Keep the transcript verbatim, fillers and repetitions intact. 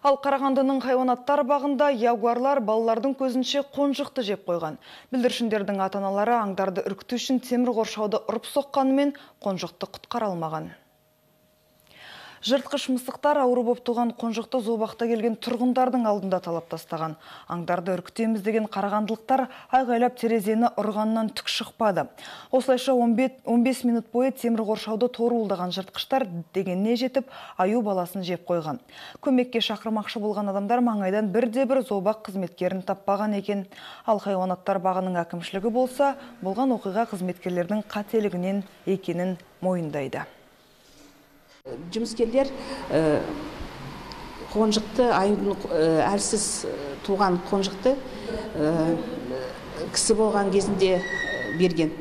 Ал Қарағандының хайуанаттар бағында ягуарлар балалардың көзінше қонжықты жеп қойған. Бүлдіршіндердің ата-аналары аңдарды үркіту үшін темір қоршауды ұрып соққанымен қонжықты құтқара алмаған. Жыртқыш мысықтар ауру боп туған қонжықты зообақта келген тұрғындардың алдында талап тастаған. Аңдарды үркітеміз деген қарағандылықтар айғайлап терезені ұрғаннан түк шықпады. Осылайша он бес минут бойы темір қоршауды торуылдаған жыртқыштар дегеніне жетіп, аю баласын жеп қойған. Көмекке шақырмақшы болған адамдар маңайдан бірде-бір зообақ қызметкерін таппаған екен. Ал хайуанаттар бағының әкімшілігі болса, болған оқиға қызметкерлердің қателігінен екенін мойындайды. Жұмыскерлер қонжықты, аюдың әлсіз туған қонжықты кісі болған кезінде берген.